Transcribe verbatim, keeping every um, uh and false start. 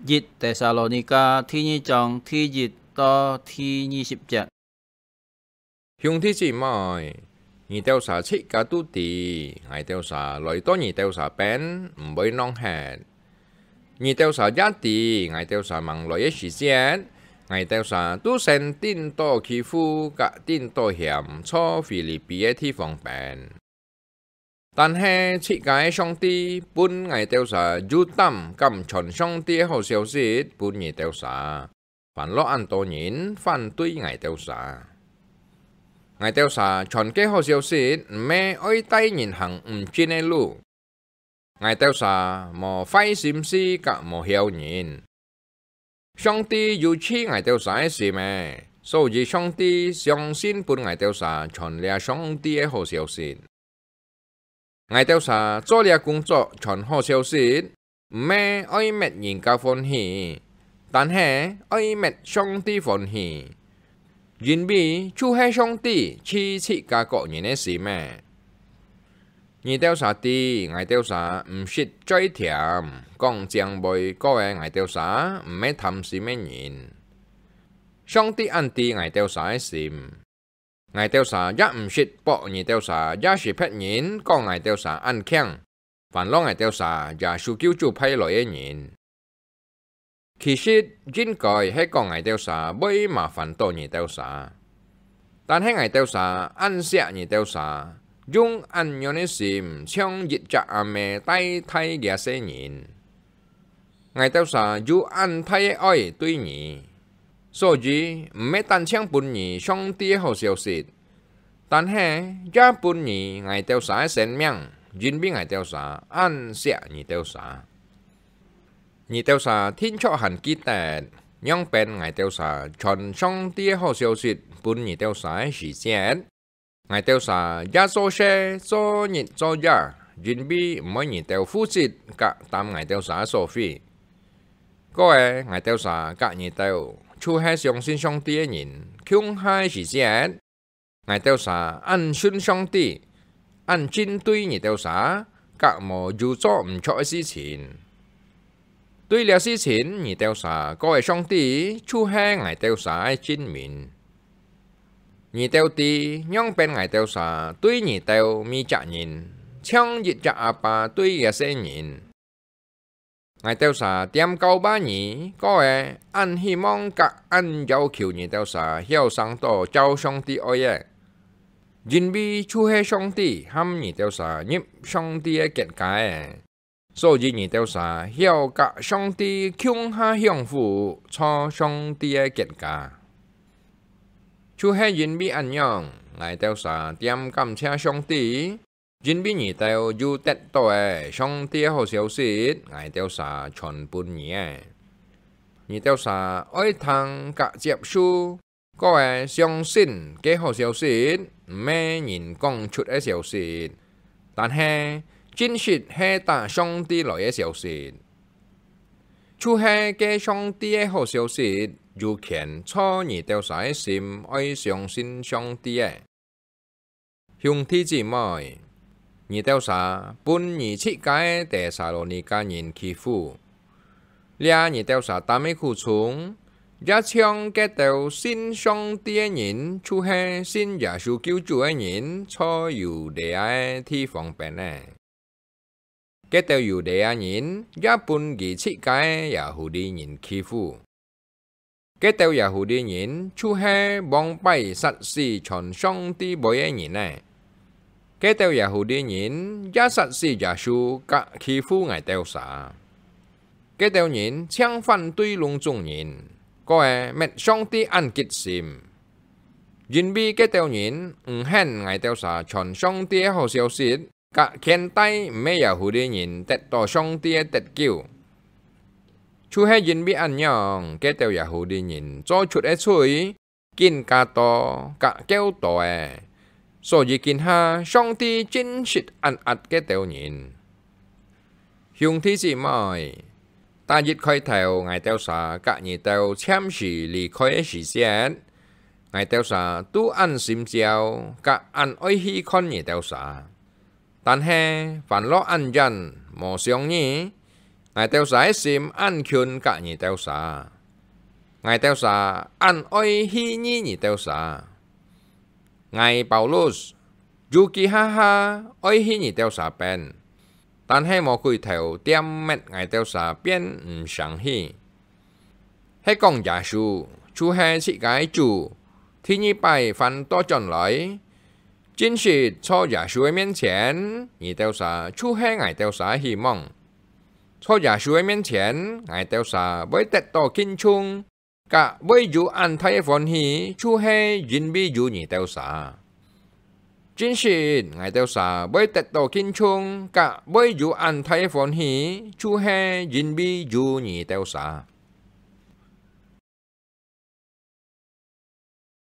一帖撒羅尼迦第二章第一到第二十節。兄弟姊妹，你兜儕自家都知，𠊎兜儕來到你兜儕邊毋會浪忒。你兜儕也知，𠊎兜儕吂來个時節，𠊎兜儕都先頂到欺負，甲頂到嫌，在腓立比个地方邊。 但係自家个上帝分𠊎兜儕有膽敢傳上帝个好消息分你兜儕，還落恁多人反對𠊎兜儕。𠊎兜儕傳个好消息，毋係愛帶人行毋盡个路。𠊎兜儕無壞心思甲無嬈人， 上帝有試𠊎兜儕个心仔，所以上帝相信分𠊎兜儕傳這上帝个好消息。𠊎兜儕做這工作傳好消息，毋係愛搣人家歡喜，但係愛搣上帝歡喜，因為就係上帝試自家各人个心仔。 你兜儕知，𠊎兜儕毋識嘴甜，講靚話，過个𠊎兜儕毋係貪心个人。上帝恁知𠊎兜儕个心，𠊎兜儕也毋識駁你兜儕也識別人，講𠊎兜儕恁慶，還落𠊎兜儕耶穌救主派來个人。 其實應該係講𠊎兜儕會麻煩到你兜儕，但係𠊎兜儕恁惜你兜儕，用恁樣个心像一隻阿姆帶大這細人。𠊎兜儕有恁大个愛對你，所以毋係單淨分你上帝个好消息，但係也分你𠊎兜儕个生命，因為𠊎兜儕恁惜你兜儕。 你兜儕定著還記得，仰般𠊎兜儕傳上帝个好消息分你兜儕个時節，𠊎兜儕也做事做日做夜，因為毋愛你兜負責甲擔𠊎兜儕个所費。過个𠊎兜儕甲你兜，就係相信上帝个人，共下个時節， 𠊎兜儕恁信上帝，恁真對你兜儕，甲無有做毋著个事情。對這事情，你兜儕過个上帝就係𠊎兜儕个證明。你兜知，仰般𠊎兜儕對你兜每隻人，像一隻阿爸對這細人。 𠊎兜儕恬教話語，過个恁希望甲恁要求你兜儕曉生到照上帝愛个，因為就係上帝喊你兜儕入上帝个國家个，所以你兜儕曉甲上帝共下享福，在上帝个國家。就係因為恁樣，𠊎兜儕恬感謝上帝， 因為你兜有得到个上帝个好消息，𠊎兜儕傳分你个。你兜儕愛聽甲接受，過个相信該好消息，毋係人講出个消息，但係真實係打上帝來个消息。就係該上帝个好消息，有權在你兜儕个心愛相信上帝个。 兄弟姊妹，你兜儕分你自家个帖撒羅尼迦人欺負，這你兜儕擔个苦衷，也像該兜信上帝个人，就係信耶穌救主个人，在猶太个地方邊个。 該兜猶太人也分佢自家个耶戶利人欺負。該兜耶戶利人就係往擺殺死傳上帝話个人呢。該兜耶戶利人也殺死耶穌，甲欺負𠊎兜儕。該兜人淨反對攏總人，過个搣上帝恁激心，因為該兜人毋肯𠊎兜儕傳上帝个好消息， 甲牽帶毋係耶戶利人得到上帝个得救。就係因為恁樣，該兜耶戶利人做出个罪，更加多甲較多个，所以今下上帝真實恁壓該兜人。兄弟姊妹，逐日開頭，𠊎兜儕甲你兜暫時離開个時節，𠊎兜儕都恁心焦，甲恁愛去看你兜儕。 但係，還落恁遠，無想你， ，𠊎兜儕个心恁近㧯你兜儕，𠊎兜儕恁愛去你你兜儕。𠊎Paulus，有幾下下愛去你兜儕邊，但係魔鬼頭恬滅𠊎兜儕，變毋成去。係講耶穌，就係自家个主，第二擺還倒轉來，真實在耶穌个面前，你兜儕就係𠊎兜儕个希望。在耶穌个面前，𠊎兜儕會得到敬重， 㧯會有恁大个歡喜，就係因為有你兜儕。真實，𠊎兜儕會得到敬重，㧯會有恁大个歡喜，就係因為有你兜儕。